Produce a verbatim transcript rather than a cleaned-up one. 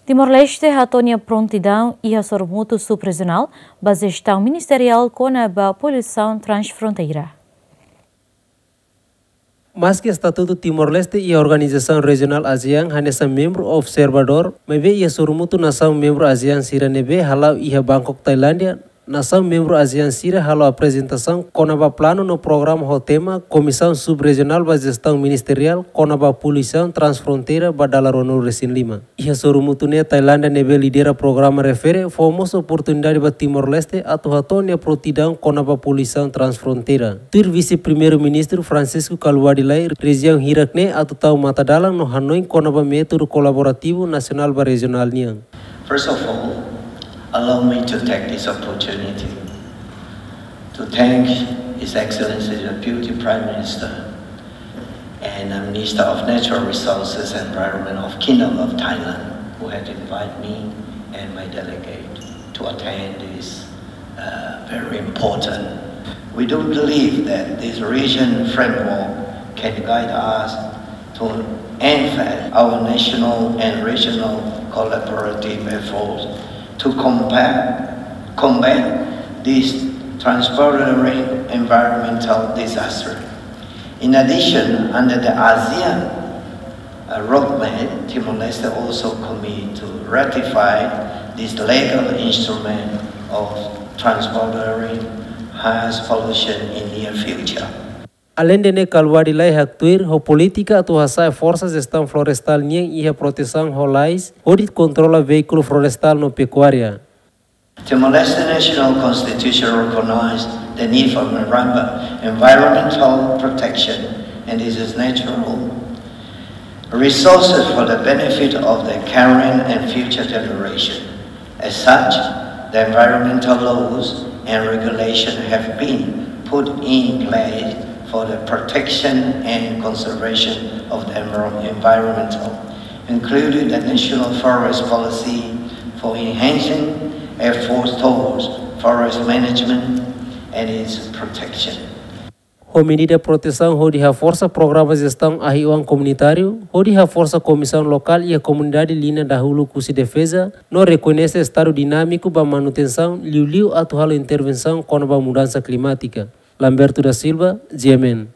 Timor-Leste hato'o nia prontidaun iha sorumutu sub-rejionál ba jestaun ministeriál kona-ba poluisaun transfronteira. Maski estatutu Timor-Leste iha organizasaun rejionál ASEAN hanesan membru observadór, maibé iha sorumutu nasaun membru ASEAN sira ne'ebé hala'o iha Bangkok, Tailándia, nasaun membru ASEAN sira halo aprezentasaun kona-ba planu no programa ho tema Komisaun Sub-Rejionál ba Jestaun Ministeriál kona-ba Poluisaun Transfronteira ba dala ruanulu-resin-lima. Iha sorumutu ne'e Tailándia ne'ebé lidera programa refere fó mós oportunidade ba Timor-Leste atu hato'o nia prontidaun kona-ba poluisaun transfronteira. Tuir Vise-Primeiru-Ministru Francisco Kalbuadi Lay, rejiaun hirak ne'e atu tau matadalan no hanoin kona-ba métodu kolaborativu nasionál ba rejionál nian. First of all, allow me to take this opportunity to thank His Excellency the Deputy Prime Minister and the Minister of Natural Resources and Environment of Kingdom of Thailand, who had invited me and my delegate to attend this, uh, very important. We do believe that this region framework can guide us to enhance our national and regional collaborative efforts to combat, combat this transboundary environmental disaster. In addition, under the ASEAN, uh, roadmap, Timor-Leste also commit to ratify this legal instrument of transboundary harsh pollution in near future. Aleinde ne'e, Kalbuadi Lay haktuir ho polítika atu hasa'e forsa jestaun florestál nian iha protesaun ho lais hodi kontrola veíkulu florestál no pekuária. Timor-Leste National Constitution recognize the need for environment-, environmental protection and its natural resources for the benefit of the current and future generation. As such, the environmental laws and regulation have been put in place for the protection and conservation of the enviro-, environmental, including the National Forest Policy for enhancing efforts towards forest management and its protection. Ho medida protesaun hodi haforsa programa jestaun ahi-oan komunitáriu, hodi haforsa komisaun lokál iha komunidade liña dahuluk husi defeza, no rekoñese estadu dinámiku ba manutensaun, liuliu atu halo intervensaun kona-ba mudansa klimátika. Lamberto da Silva, G M N.